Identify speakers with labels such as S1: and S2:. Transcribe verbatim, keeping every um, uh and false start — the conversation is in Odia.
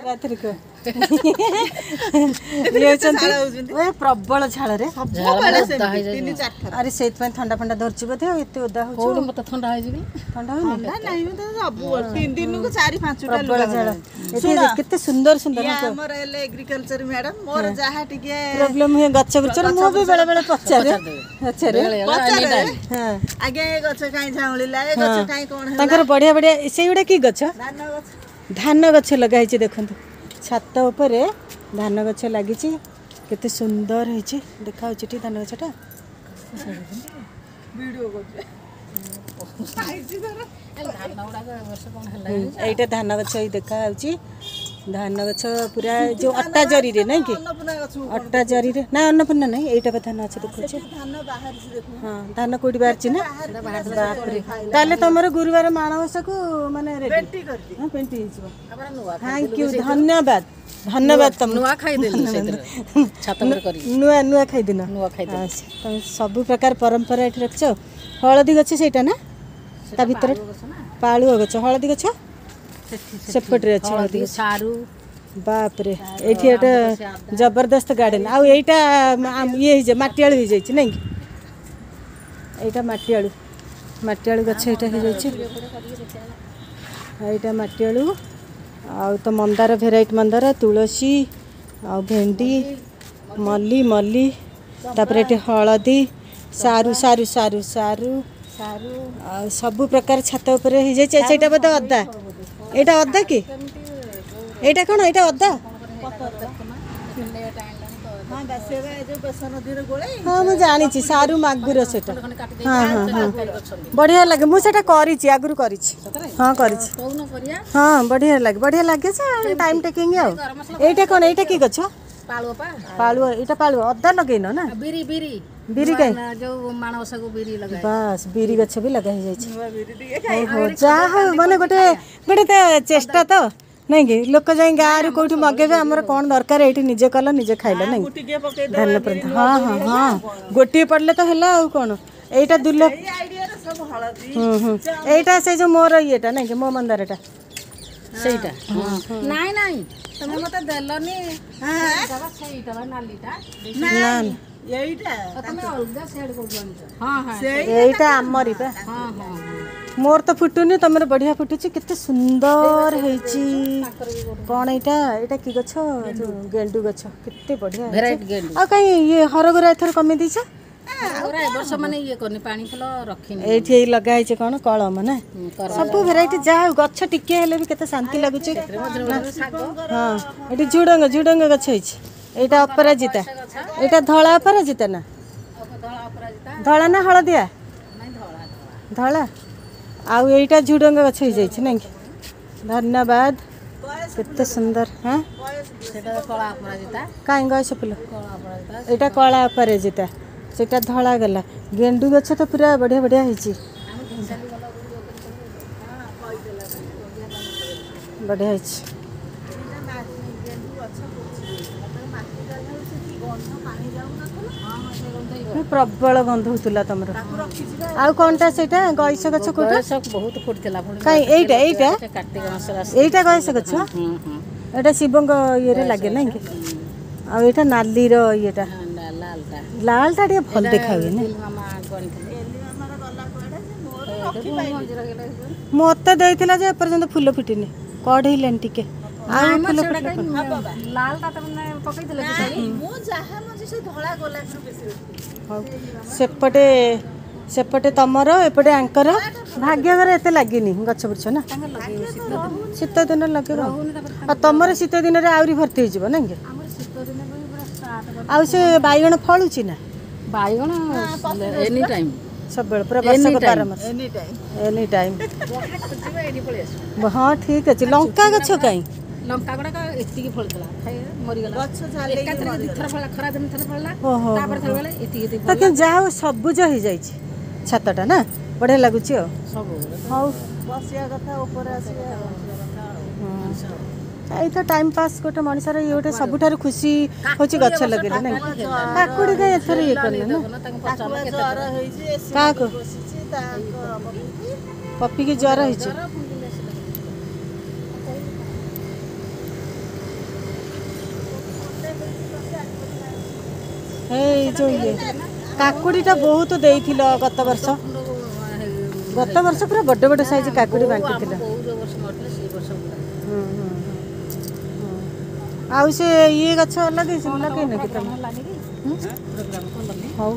S1: ରାତିରେ କୁହ ଇଏ ହେଉଛନ୍ତି ଏ ପ୍ରବଳ ଝାଳରେ
S2: ସବୁବେଳେ ସେମିତି ତିନି ଚାରି ଥର।
S1: ଆରେ ସେଇଥିପାଇଁ ଥଣ୍ଡା ଫଣ୍ଡା ଧରିଛି ବୋଧେ ଆଉ ଏତେ ଓଦା ହଉଛି।
S3: କୋଉଠି ମତେ ଥଣ୍ଡା ହେଇଛି କି?
S1: ଥଣ୍ଡା ହଉନି?
S2: ଥଣ୍ଡା ନାହିଁ, ମୁଁ ତ ସବୁ ତିନି ଦିନକୁ ଚାରି ପାଞ୍ଚଟା
S1: ପ୍ରବଳ
S2: ଲୁଗା
S1: ଝାଳ
S2: ବଦଳାଏ।
S1: ଏଠି କେତେ ସୁନ୍ଦର ସୁନ୍ଦର
S2: ଇଏ ଆମର ହେଲେ ଏଗ୍ରିକଲଚର ମ୍ୟାଡାମ, ମୋର ଯାହା ଟିକେ
S1: ପ୍ରୋବ୍ଲେମ ହୁଏ ଗଛ ବୃଛରେ, ମୁଁ ବି ବେଳେ ବେଳେ ପଚାରେ ପଚାରେ।
S2: ପଚାରେ।
S1: ହଁ।
S2: ଆଜ୍ଞା, ଏ ଗଛ କାଇଁ ଝାଉଁଳିଲା, ଏ ଗଛ କାଇଁ କଣ ହେଲା?
S1: ତାଙ୍କର ବଢିଆ ବଢିଆ। ସେଇଗୁଡ଼ା କି ଗଛ?
S2: ଧାନ ଗଛ।
S1: ଧାନ ଗଛ ଲଗା ହେଇଛି। ଦେଖନ୍ତୁ, ଛାତ ଉପରେ ଧାନ ଗଛ ଲାଗିଛି, କେତେ ସୁନ୍ଦର ହେଇଛି। ଦେଖାଯାଉଛି ଏଠି ଧାନ ଗଛଟା।
S2: ଭିଡିଓ କରୁଛି।
S3: ଧାନ ଗୁଡାକ ଏ ବର୍ଷ କଣ ହେଲା?
S1: ହୁଁ, ଏଇଟା ଧାନ ଗଛ ଏଇ ଦେଖାଯାଉଛି। ଧାନ ଗଛ ପୁରା ଯୋଉ ଅଟା ଜରିରେ ନାଇଁ କି?
S2: ଅନ୍ନପୂର୍ଣ୍ଣା ଗଛ।
S1: ଅଟା ଜରିରେ ନା, ଅନ୍ନପୂର୍ଣ୍ଣା ନାହିଁ, ଏଇଟା ବା ଧାନ ଗଛ ଦେଖାଉଛି।
S2: ଧାନ ବାହାରିଛି ଦେଖୁ।
S1: ହଁ, ଧାନ କୋଉଠି ବାହାରିଛି ନା? ବାପରେ, ତାହେଲେ ତମର ଗୁରୁବାର ମାଣବସାକୁ ମାନେ ରେଡି।
S2: ପେଣ୍ଟି କରିଛି।
S1: ହଁ, ପେଣ୍ଟି ହେଇଯିବ।
S3: ତାପରେ ନୂଆ
S1: thank you, ଧନ୍ୟବାଦ, ଧନ୍ୟବାଦ ତମକୁ।
S3: ନୂଆ ଖାଇଦେଲୁ ସେଇଥିରେ ଛାତ ଉପରେ କରିକି।
S1: ନୂଆ ନୂଆ ଖାଇଦିନ।
S3: ନୂଆ ଖାଇଦେଲୁ।
S1: ଆଚ୍ଛା, ତମେ ସବୁ ପ୍ରକାର ପରମ୍ପରା ଏଠି ରଖିଛ। ହଳଦୀ ଗଛ ସେଇଟା ନା ତା ଭିତରେ? ପାଳୁଅ ଗଛ। ହଳଦୀ ଗଛ ସେପଟରେ ଅଛି, ହଳଦୀ ଗଛ।
S3: ସାରୁ।
S1: ବାପରେ, ଏଇଠି ଗୋଟେ ଜବରଦସ୍ତ ଗାର୍ଡେନ। ଆଉ ଏଇଟା ଆମ୍- ଇଏ ହେଇଯାଇଛି, ମାଟି ଆଳୁ ହେଇଯାଇଛି ନାଇଁ କି? ଏଇଟା ମାଟି ଆଳୁ, ମାଟି ଆଳୁ ଗଛ ଏଇଟା ହେଇଯାଇଛି। ଏଇଟା ମାଟି ଆଳୁ। ଆଉ ତ ମନ୍ଦାର, ଭେରାଇଟି ମନ୍ଦାର, ତୁଳସୀ ଆଉ ଭେଣ୍ଡି, ମଲ୍ଲି ମଲ୍ଲି। ତାପରେ ଏଠି ହଳଦୀ, ସାରୁ ସାରୁ ସାରୁ ସାରୁ
S2: ସାରୁ।
S1: ଆଉ ସବୁ ପ୍ରକାର ଛାତ ଉପରେ ହେଇଯାଇଛି। ସେଇଟା ବୋଧେ ଅଦା। ଏଇଟା ଅଦା କି? ଏଇଟା କ'ଣ? ଏଇଟା ଅଦା।
S2: ହଁ ବା, ସେ ବା ଏ ଯୋଉ ବେସନ ଦିହରେ ଗୋଳେଇ।
S1: ହଁ, ମୁଁ ଜାଣିଛି, ସାରୁ ମାଗୁର ସେଇଟା। ହଁ ହଁ ହଁ, ବଢ଼ିଆ ଲାଗେ। ମୁଁ ସେଇଟା କରିଛି, ଆଗରୁ କରିଛି। ହଁ, କରିଛି।
S3: କହୁନ କରିବା।
S1: ହଁ, ବଢ଼ିଆ ଲାଗେ, ବଢ଼ିଆ ଲାଗେ ଯେ ଟାଇମ୍ ଟେକିଂ। ଆଉ ଏଇଟା କ'ଣ? ଏଇଟା କି ଗଛ?
S3: ପାଳୁଅ ପା।
S1: ପାଳୁଅ, ଏଇଟା ପାଳୁଅ। ଅଦା ଲଗେଇନ ନା?
S3: ବିରି, ବିରି।
S1: ବିରି କାଇଁ?
S3: ନା, ଯୋଉ ମାଣବସାକୁ ବିରି ଲଗାଏ।
S1: ବାସ୍, ବିରି ଗଛ ବି ଲଗା ହେଇଯାଇଛି।
S2: ନୂଆ ବିରି ଟିକେ।
S1: ଓହୋ, ଯାହା ହଉ, ମାନେ ଗୋଟେ ଗୋଟେ ତ ଚେଷ୍ଟା ତ ନାଇଁ କି? ଲୋକ ଯାଇ ଗାଁରୁ କୋଉଠି ମଗେଇବେ, ଆମର କ'ଣ ଦରକାର? ଏଇଠି ନିଜେ କଲ, ନିଜେ ଖାଇଲ, ନାଇଁ?
S2: ମୁଁ ଟିକେ ପକେଇଦବା।
S1: ଧାନ ପର୍ଯ୍ୟନ୍ତ। ହଁ ହଁ ହଁ, ଗୋଟିଏ ପଡ଼ିଲେ ତ ହେଲା, ଆଉ କ'ଣ? ଏଇଟା ଦୁଲ।
S2: ଏଇ ଆଇଡିଆରେ ସବୁ ହଳଦୀ।
S1: ହୁଁ ହୁଁ, ଏଇଟା ସେଇ ଯୋଉ ମୋର ଇଏଟା ନାଇଁ କି, ମୋ ମନ୍ଦାରଟା?
S3: ସେଇଟା ନାଇଁ ନାଇଁ, ତମେ ମତେ ଦେଲନି ସେଇଟା ବା, ସେଇଟା ବା ନାଲିଟା।
S1: ନା।
S2: ଏଇଟା।
S3: ତମେ ଅଲଗା ସିଆଡେ କୋଉଠୁ ଆଣିଛ? ହଁ ହଁ।
S1: ଏଇଟା ଆମରି ବା।
S3: ହଁ ହଁ।
S1: ମୋର ତ ଫୁଟୁନି, ତମର ବଢିଆ ଫୁଟୁଛି। କେତେ ସୁନ୍ଦର ହେଇଛି। କ'ଣ ଏଇଟା? ଏଇଟା କି ଗଛ? ଯୋଉ ଗେଣ୍ଡୁ ଗଛ, କେତେ ବଢିଆ ହେଇଛି।
S3: ଭେରାଇଟି ଗେଣ୍ଡୁ।
S1: ଆଉ କାଇଁ ଇଏ ହରଗୌରା ଏଥର କମେଇ ଦେଇଛ?
S3: ହରଗୌରା ଏ ବର୍ଷ ମାନେ ଇଏ କରିନି, ପାଣି ଫୁଲ ରଖିନି।
S1: ଏଇଠି ଏଇ ଲଗା ହେଇଛି କ'ଣ, କଳମ ନା? ସବୁ ଭେରାଇଟି। ଯାହା ହଉ, ଗଛ ଟିକେ ହେଲେ ବି କେତେ ଶାନ୍ତି ଲାଗୁଛି। ହଁ, ଏଠି ଝୁଡଙ୍ଗ ଝୁଡଙ୍ଗ ଗଛ ହେଇଛି। ଏଇଟା ଅପରାଜିତା। ଏଇଟା ଧଳା ଅପରାଜିତା ନା?
S3: ଧଳା ଅପରାଜିତା।
S1: ଧଳା ନା ହଳଦିଆ?
S3: ନାଇଁ, ଧଳା ଧଳା।
S1: ଧଳା। ଆଉ ଏଇଟା ଝୁଡଙ୍ଗ ଗଛ ହେଇଯାଇଛି ନାଇଁ କି? ଧନ୍ୟବାଦ, କେତେ ସୁନ୍ଦର। ହଁ।
S3: ସେଇଟା କଳା ଅପରାଜିତା।
S1: କାଇଁ ଗଛ ଫୁଲ?
S3: କଳା ଅପରାଜିତା।
S1: ଏଇଟା କଳା ଅପରାଜିତା, ସେଇଟା ଧଳା ଗଲା। ଗେଣ୍ଡୁ ଗଛ ତ ପୁରା ବଢିଆ ବଢିଆ ହେଇଛି, ବଢିଆ ହେଇଛି।
S2: ଗେଣ୍ଡୁ ଗଛ ପୋଛି ମାଟି ସେଠି ଗନ୍ଧ ପାଣି ଯାଉନଥିଲା।
S1: ପ୍ରବଳ ଗନ୍ଧ ହଉଥିଲା ତମର।
S2: ତାକୁ ରଖିଛି ବା।
S1: ଆଉ କଣଟା ସେଇଟା? ଗଇସ ଗଛ କୋଉଟା?
S3: ଗଇସ ବହୁତ ଫୁଟିଥିଲା ପୁଣି।
S1: କାଇଁ, ଏଇଟା ଏଇଟା?
S3: କାର୍ତ୍ତିକ ମାସରେ ଆସେ।
S1: ଏଇଟା ଗଇସ ଗଛ।
S3: ହୁଁ ହୁଁ।
S1: ଏଇଟା ଶିବଙ୍କ ଇଏରେ ଲାଗେ ନାଇଁ କି? ଆଉ ଏଇଟା ନାଲିର ଇଏଟା।
S3: ଲାଲଟା।
S1: ଲାଲଟା ଟିକେ ଭଲ ଦେଖା ହୁଏ ନା?
S3: ମାମା ଆଣିଥିଲେ।
S2: ଏଲି ମାମାର ଗଲା କୁଆଡେ ଯେ, ମୋର ରଖିପାଇଲି।
S1: ମତେ ଦେଇଥିଲା ଯେ ଏପର୍ଯ୍ୟନ୍ତ ଫୁଲ ଫୁଟିନି, କଢେଇଲାଣି ଟିକେ। ଆଉ ଫୁଲ ଫୁଟିଲେ
S3: ଲାଲଟା ତମେ ପକେଇଥିଲ କି ଶାଢୀ?
S2: ମୁଁ ଯାହା ମଞ୍ଜି ସେ ଧଳା ଗୋଲାପରୁ ବେଶୀ ରଖିଥିଲି।
S1: ହଉ, ସେପଟେ ସେପଟେ ତମର, ଏପଟେ ଆଙ୍କର। ଭାଗ୍ୟଘର ଏତେ ଲାଗିନି ଗଛ ବୁର୍ଛ ନା? ଶୀତ ଦିନରେ ଲଗେଇବ। ଆଉ ତମର ଶୀତ ଦିନରେ ଆହୁରି ଭର୍ତ୍ତି ହେଇଯିବ ନାଇଁ କି?
S3: ଆମର ଶୀତ ଦିନ ପାଇଁ ପୁରା ଷ୍ଟାର୍ଟ।
S1: ଆଉ ସେ ବାଇଗଣ ଫଳୁଛି ନା?
S3: ବାଇଗଣ ଏନି ଟାଇମ୍।
S1: ସବୁବେଳେ ପୁରା ବର୍ଷକ ବାର ମାସ।
S2: Any time.
S1: Any time.
S3: ଖୋଜିବ ଏଇଠି ପଳେଇ ଆସିବ।
S1: ହଁ, ଠିକ ଅଛି। ଲଙ୍କା ଗଛ କାଇଁ?
S3: ଲଙ୍କା ଗୁଡାକ ଏତିକି ଫଳିଥିଲା, ଖାଇ ମରିଗଲା।
S2: ଗଛ ଝାଲେଇକି
S3: ଏକାଥରେ ଦିଥର ଫଳିଲା, ଖରା ଦିନ ଥରେ ଫଳିଲା।
S1: ଓହୋ।
S3: ତାପରେ ଥରେ ବେଳେ ଏତିକି ଏତିକି
S1: ତ କିନ୍ତୁ ଯାହା ହଉ, ସବୁଜ ହେଇଯାଇଛି ଛାତଟା ନା, ବଢିଆ ଲାଗୁଛି। ଆଉ
S3: ସବୁ।
S1: ହଉ।
S2: ବସିବା କଥା, ଉପରେ ଆସିବା।
S1: ଏଇ ତ ଟାଇମ୍ ପାସ୍ ଗୋଟେ ମଣିଷର, ଇଏ ଗୋଟେ ସବୁଠାରୁ ଖୁସି ହଉଛି ଗଛ ଲଗେଇଲେ ନାଇଁ। କାକୁଡ଼ି କାଇଁ ଏଥର ଇଏ କରିନି ନା?
S3: ତାଙ୍କୁ
S2: ତାକୁ ବା ଜର ହେଇଛି, ଏସି
S1: କାହାକୁ?
S2: ବସିଛି ତାଙ୍କ ପପିକି।
S1: ପପିକି ଜ୍ୱର ହେଇଛି। ଏଇ ଯୋଉ ଇଏ କାକୁଡ଼ିଟା ବହୁତ ଦେଇଥିଲ ଗତ ବର୍ଷ। ଗତ ବର୍ଷ ପୁରା ବଡ଼ ବଡ଼ ସାଇଜ କାକୁଡ଼ି ବାଣ୍ଟିଥିଲ।
S3: ବୋଉ ଯୋଉ ବର୍ଷ ମରିଥିଲେ, ସେଇ ବର୍ଷ ପୁରା।
S1: ହୁଁ ହୁଁ ହୁଁ। ଆଉ ସେ ଇଏ ଗଛ ଲଗେଇଛ, ଲଗେଇନ କି ତମେ?
S3: ହେଲାନି କି ପ୍ରୋଗ୍ରାମ କଲନି?
S1: ହଉ।